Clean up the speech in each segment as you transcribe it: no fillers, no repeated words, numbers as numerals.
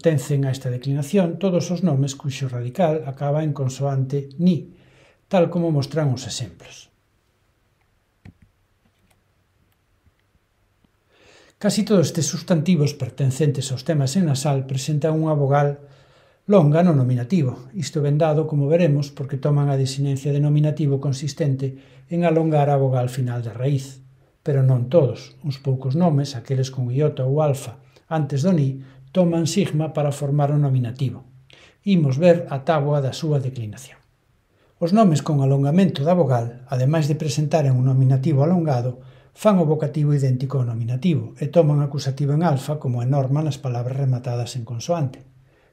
pertencen a esta declinación todos os nomes cuxo radical acaba en consoante ni, tal como mostran os exemplos. Casi todos estes substantivos pertencentes aos temas en nasal presentan unha vogal longa no nominativo. Isto ben dado, como veremos, porque toman a desinencia de nominativo consistente en alongar a vogal final da raíz. Pero non todos. Uns poucos nomes, aqueles con iota ou alfa antes do ni, toman sigma para formar o nominativo. Imos ver a táboa da súa declinación. Os nomes con alongamento da vogal, ademais de presentaren un nominativo alongado, fan o vocativo idéntico ao nominativo e toman acusativo en alfa como é norma nas palabras rematadas en consoante.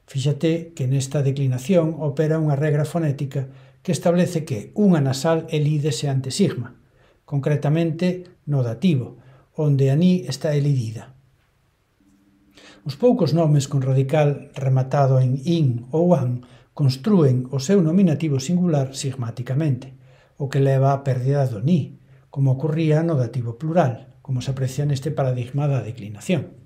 Fíxate que nesta declinación opera unha regra fonética que establece que unha nasal elídese ante sigma, concretamente no dativo, onde a ni está elidida. Os poucos nomes con radical rematado en in ou an construen o seu nominativo singular sigmáticamente, o que leva á pérdida do ni, como ocurría no dativo plural, como se aprecia neste paradigma da declinación.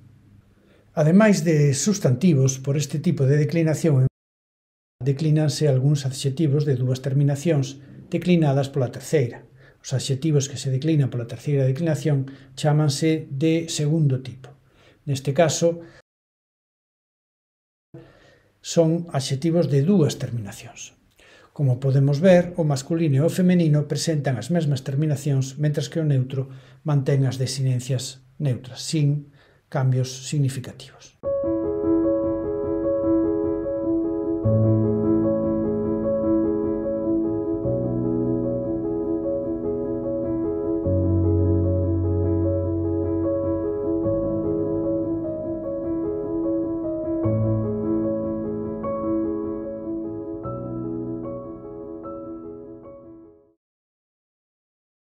Ademais de substantivos, por este tipo de declinación declínanse algúns adxetivos de dúas terminacións declinadas pola terceira. Os adxetivos que se declinan pola terceira declinación chámanse de segundo tipo. Neste caso, son adxetivos de dúas terminacións. Como podemos ver, o masculino e o femenino presentan as mesmas terminacións, mentras que o neutro mantén as desinencias neutras, sin cambios significativos.